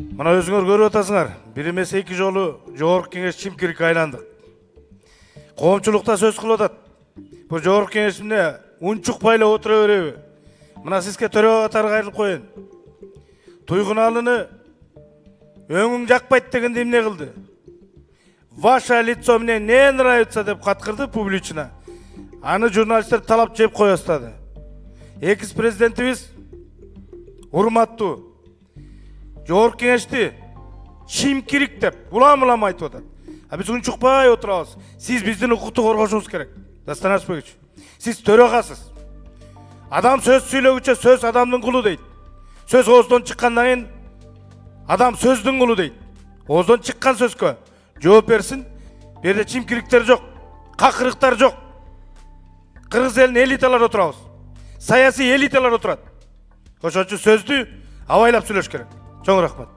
Мына өзүңөр көрүп атасыңар, бир эмес эки жолу Жогорку Кеңеш чимкирикке айландык. Коомчулукта сөз кылып атат. Бул Жогорку Кеңеш эмне унчукпай эле отура береби? Мына сизге төрөгө катары кайрылып коеюн. Туйгуналыны өңүң жакпайт дегенде эмне кылды? Ваше лицо мне не нравится деп каткырды публично. Аны журналисттер талап жеп кое баштады. Экс-президентибиз урматтуу Жогорку Кеңешти чимкирик деп улам айтып атат. А биз унчукпай отурабыз. Сиз биздин укукту коргошуңуз керек. Дастан Ашпекович, сиз төрөгасыз. Адам сөз сүйлөгүчө сөз адамдын кулу дейт. Сөз ооздон чыккандан кийин адам сөздүн кулу дейт. Ооздон чыккан сөзгө жооп берсин. Бу жерде чимкириктер жок, какырыктар жок. Кыргыз элинин элиталары отурабыз. Саясий элиталар отурат. Ошон үчүн сөздү абайлап сүйлөш керек. Чоң рахмат.